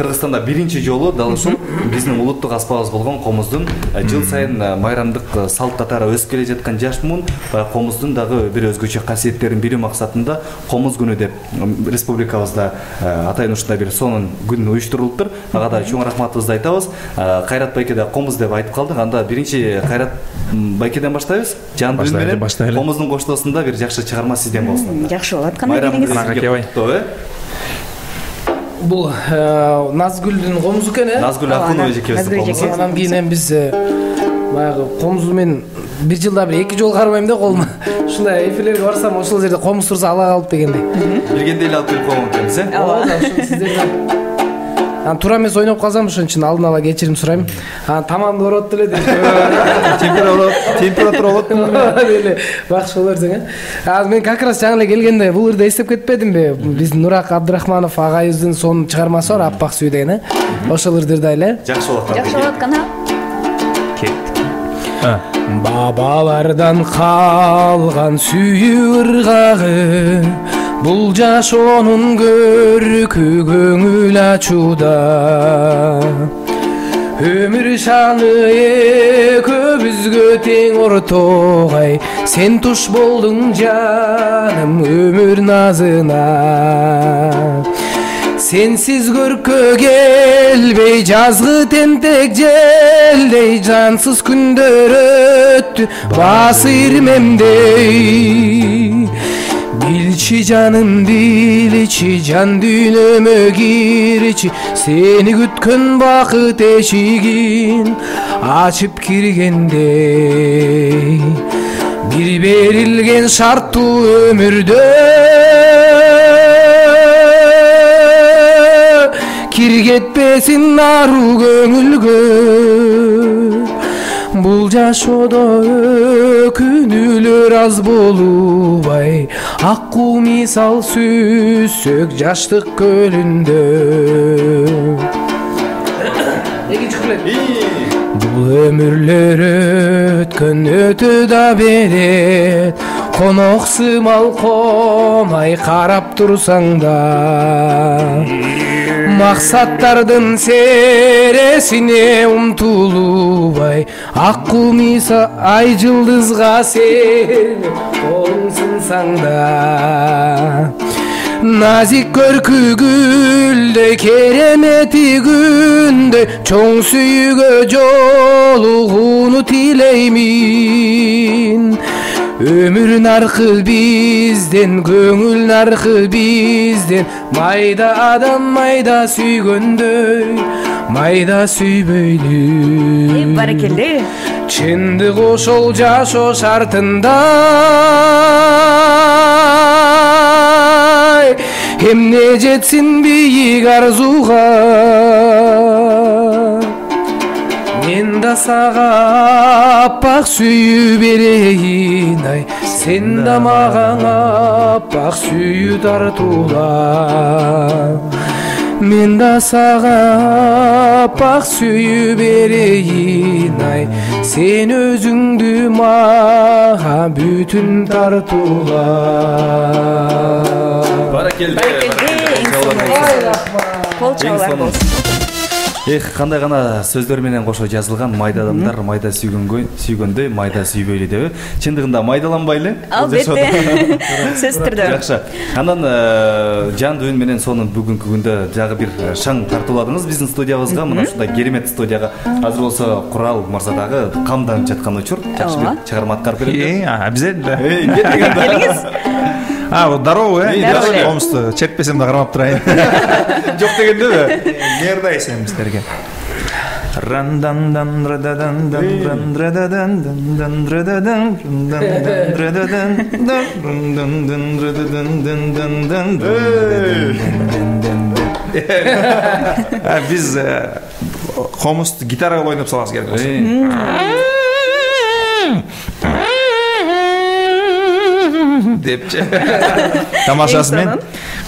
Кыргызстанда биринчи жолу дал ушул биздин улуттук аспабыбыз болгон комуздун жыл сайын майрамдык салт татары өсүп келе жаткан жаш муун баягы комуздун дагы бир өзгөчө касиеттерин билүү максатында комуз күнү деп республикабызда атайын ушундай бир сонун күн уюштурулуптур. Ага да чоң рахматыбызды айтабыз. Кайрат байке да комуз деп айтып калдык. Анда биринчи Кайрат байкеден баштайбыз. Жандуу үн менен комуздун коштоосунда бир жакшы чыгарма сизден болсун. Жакшы болот. Кандай делиңиз? Бул Назгүлдүн комузу экен, Назгүл Акунова эжекебиздин комузу. Анан кийин биз баягы комузу мен бир жылда бир 2 жолу карбайм да колума. Ушундай эфирлерге барсам ошол жерде комуз турса ала калып дегендей. Билгенде эле алып келип койгон экенбиз, Ооба, ошол сиздерден. Туура эмес ойноп калсам ошон үчүн алдын ала кечирим сурайм. Тамамды ороот деле дейт. Температура болот деле. Бакшы болор дең. Азыр мен как раз жаңы эле келгенде бул ырды эстеп кетпедимби? Биздин Нурак Абдрахманов агайыбыздын сонун чыгармасы бар, Аппак сүй деген, Ошол ырдырда эле. Жакшы болот. Жакшы болот кана. Бабалардан калган сүйүү ыргагы, бул жашоонун көркү көңүл ачууда. Өмүр шаны экөөбүзгө тең ортогай, сен туш болдуң жаным өмүр назына. Сенсиз көркө келбей жазгы тентек желдей, жансыз күндөр өттү басырмемдей. Билчи жаным билчи, жан дүйнөмө кирчи, сени күткөн бакыт эшигин ачып киргендей. Бир берилген шарттуу өмүрдө киргетпесин ару көңүлгө. Бул жашоодо өкүнүүлөр аз болубай, аккуу мисал сүзсөк жаштык көлүндө. Экинчи куплет. Бул өмүрлөр өткөн өтө да берет, конок сымал комай карап турсаң да. Максаттардын сересине умтулубай, аккуу миса ай жылдызга серме колуң сынсаң да. Назик көркү гүлдөй, керемети күндөй, чоң сүйүүгө жолугууну тилеймин. Өмүр наркы бизден, көңүл наркы бизден, майда адам майда сүйгөндөй, майда сүйбөйлү. Баракелде. Чындык ошол жашоо шартында, эмне жетсин бийик арзуга. Мен да сага аппак сүйүү берейин, ай, сен да мага аппак сүйүү тартуула. Мен да сага аппак сүйүү берейин, ай, сен өзүңдү мага бүтүн тартуула. Баракелде. Кол чабуулар болсун. Кандай гана сөздөр менен кошо жазылган, майда адамдар майда сүйгөндөй, майда сүйбөйлү деп. Чындыгында майдаланбайлы? Албетте. Сөз түрдө. Жакшы. Андан жан дүйүн менен сонун бүгүнкү күндө дагы бир шаң тартууладыңыз биздин студиябызга. Мына ушундай керемет студияга. Азыр болсо Курал мырза дагы камданып жаткан учур. Жакшы бир чыгарма аткарып берет. Обязательно. Келиңиз. Здорово, комузду чертпесем да кармап турайын. Жок дегендеби? Мээрдайсың сиздерге. Биз комузду гитарага ойноп салабыз керек болсо. Депчи. Тамашасы мен.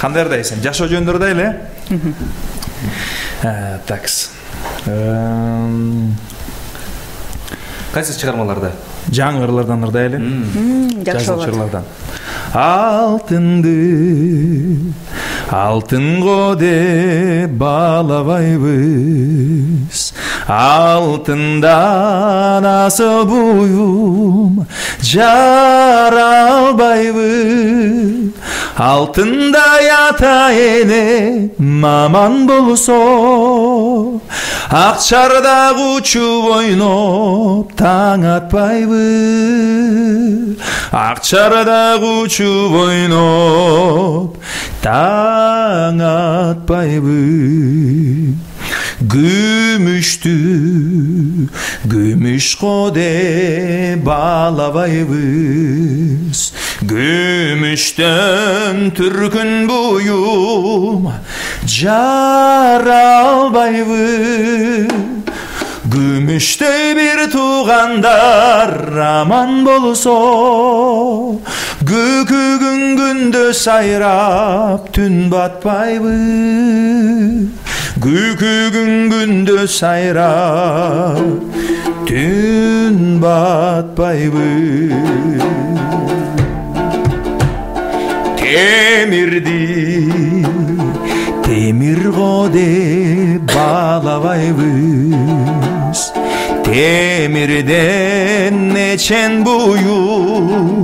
Кандай ырдайсың? Жашоо жөнүндө ырдайлы, такс. Кайсы чыгармаларда? Жаңы ырлардан ырдайлы. Жакшы болот. Алтынды алтынго деп баалабайбыз, алтындан асыл буюм жаралбайбыз. Алтындай ата эне маман болсо, акчарда учуп ойноп таң атпайбы. Акчарда учуп ойноп таң атпайбы. Күмүштү күмүшкө деп баалабайбыз, күмүштөн түркүн буюм жаралбайбы. Күмүштөй бир туугандар аман болсо, көкөгүн күндө сайрап түн батпайбы. Көкөгүн күндө сайрап түн батпайбы. Темирди темирго деп баалабайбыз, темирден нечен буюм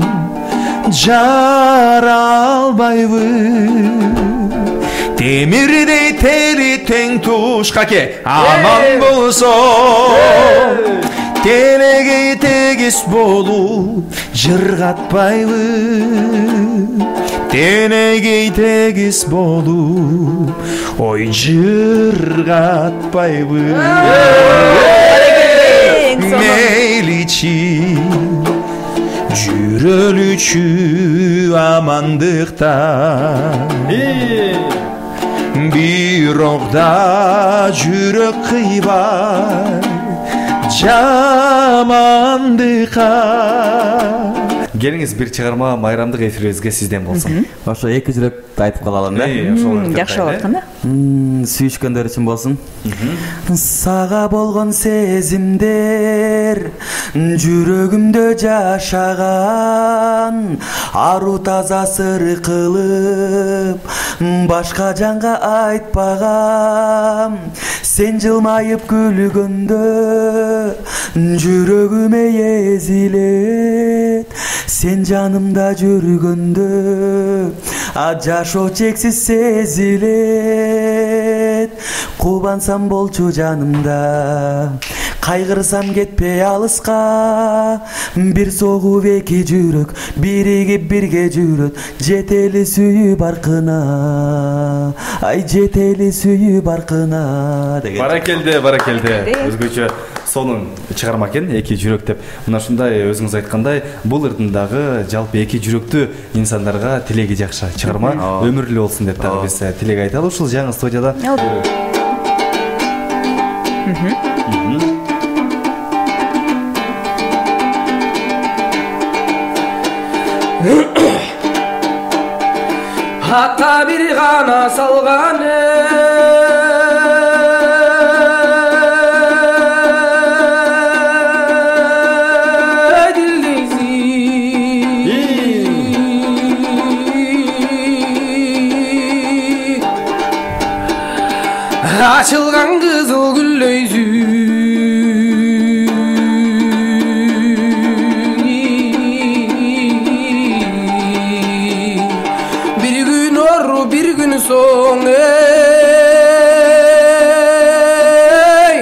жаралбайбы. Темирдей тери тең туш каке аман болсо, тенегей тегиз болуп жыргатпайбы. Тенегей тегиз болуп ой жыргатпайбы. Мейличи жүрөлүчү амандыкта, бирок да жүрөк кыйбай жамандыкка. Келиңиз бир чыгарма майрамдык эфирибизге сизден болсун. Ошо эки жүрөктү айтып калалым да. Жакшы болот да. Сүйүшкөндөр үчүн болсун. Сага болгон сезимдер жүрөгүмдө жашаган, ару таза сыр кылып башка жанга айтпагам. Сен жылмайып күлгөндө жүрөгүмө эзилет, сен жанымда жүргөндө жашоо чексиз сезилет. Кубансам болчу жанымда, кайгырсам кетпей алыска. Бир согуп эки жүрөк биригип бирге жүрөт, жетели сүйүп аркына, ай жетели сүйүп аркына деген. Баракелде. Өзгөчө сонун чыгарма экен, эки жүрөк деп. Мына ушундай өзүңүз айткандай, бул ырдындагы жалпы эки жүрөктүү инсандарга тилеги жакшы чыгарма өмүрлүү болсун деп дагы биз тилек айталы. Ушул жаңы студияда Ата бир гана салган açılgan kızıl gülleyzi bir gün or bir gün son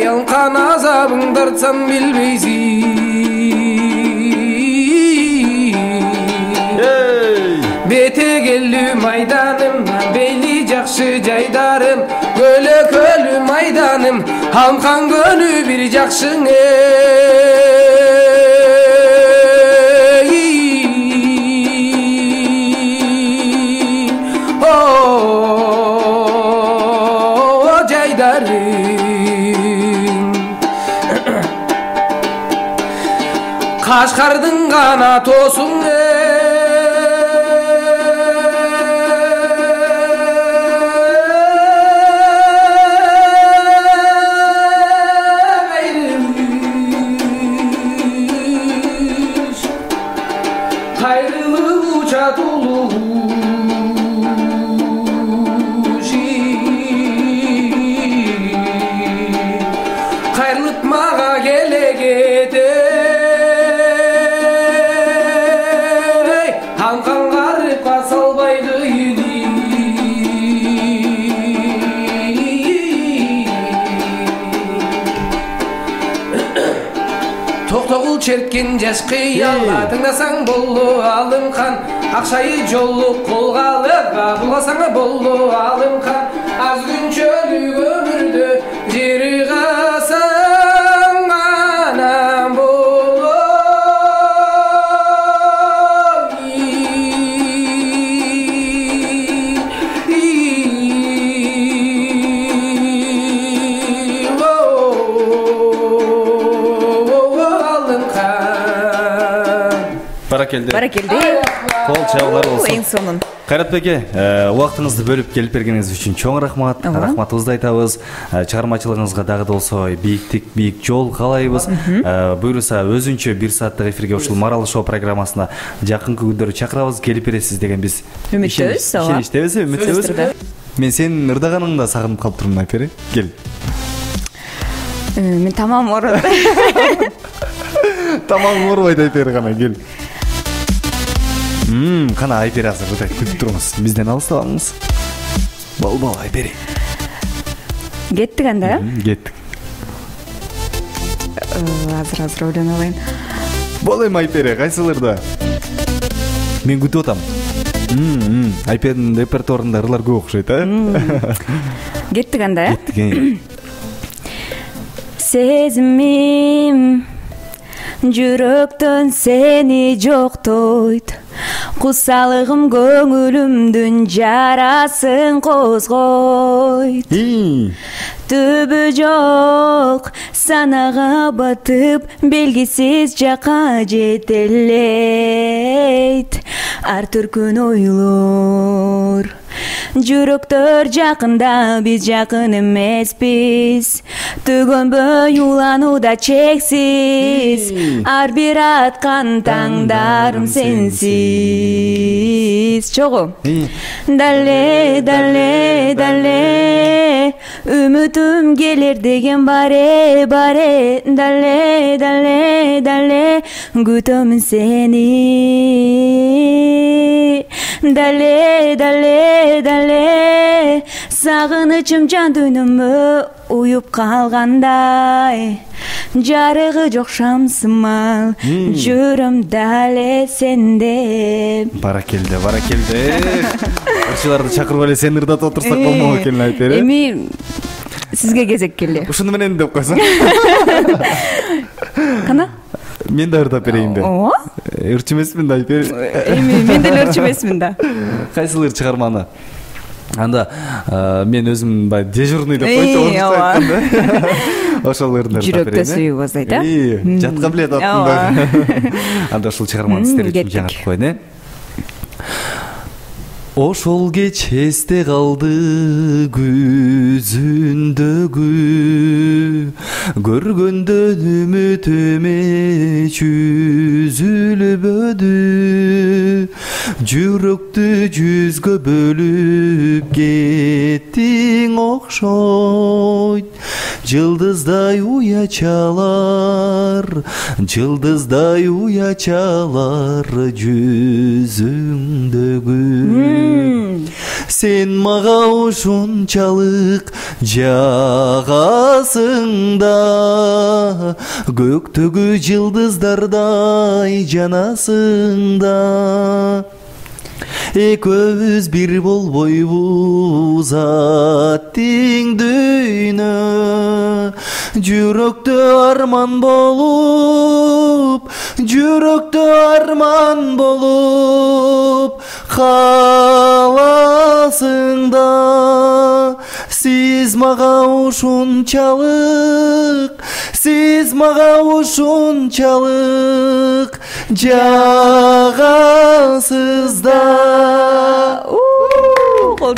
yankan azabın dartsan bilmeysin bete geldi maydanım beyli jakşı jaydarım Gölü kölü maydanım Hamkan gönü bir jakşın O jaydarım Kaşkardın kanat olsun келе кетей амкан карыпка салбайды токтогул черткен жаш кыялга тыңдасаң болду алымкан акчайы жолу колго алып булгасаң болду алымкан аз күнчөлүк өмүрдө жери касаң анан болой Баракелде. Кол чабуулар болсун. Эң сонун. Кайратбек убактыңызды бөлүп келип бергениңиз үчүн чоң рахмат. Рахматыбызды айтабыз. Чыгармачылыгыңызга дагы да болсо бийик жол каалайбыз. Буюрса өзүнчө 1 сааттык эфирге ушул Маралы шоу программасына жакынкы күндөрү чакырабыз, келип бересиз деген биз үмүттөбүз. Үмүттөбүз. Мен сенин ырдаганыңды сагынып калып турмун, Айпери. Кел. Мен тамам ооруп. Тамам оорубайт, Айпери гана кел. Кана Айпери азыр ырдайт, күтүп туруңуз. Бизден алыстабаңыз. Бол, Айпери. Кеттик анда? Кеттик. Азыр ойлоно алайын. Бол эми Айпери, кайсылырда? Мен күтүп атам. Айперинин репертуарында ырлар көп окшойт, Кеттик анда? Кеттик. Сезимим жүрөктөн сени жоктойт, кусалыгым көңүлүмдүн жарасын козгойт. Түбү жок санага батып, белгисиз жака жетелейт ар түркүн ойлор. Жүрөктөр жакында, биз жакын эмеспиз. Төгөнбөй уланууда чексиз, ар бир аткан таңдарым сенсиз. Чогуу. Дале үмүтүм келер деген баре. Дале күтөмүн сени. Дале сагынычым жан дүйнөмө уюп калгандай, жарыгы жок шамсымал жүрөм дале сенде. Баракелде. Ырчыларды чакырып эле сени ырдатып отурсак болмок экен, Айпери. Эми сизге кезек келди. Ушуну менен деп койсоң. Кана? Мен да ырдап берейин да. Ооба. Ырчы эмесмин да, Айпери. Эми мен деле ырчы эмесмин да. Кайсыл ыр чыгарманы? Анда мен өзүм баягы дежурный деп койчу, айтканда. Ошол ырдап берейин. Жүрөктө сүйүп азайт, Жатка билет аттым да. Анда ушул чыгарманы сиздер үчүн жаңыртып коеюн, Ошол кеч эсте калды күзүндөгү, көргөндөн үмүтүм эч үзүлбөдү. Жүрөктү жүзгө бөлүп кеттиң окшойт. Жылдыздай уячалар жүзүңдөгү. Сен мага ушунчалык жагасың да, көктөгү жылдыздардай жанасың да. Экөөбүз бир болбойбуз аттиң дүйнө, жүрөктө арман болуп каласың да. Сиз мага ушунчалык жагасыз да.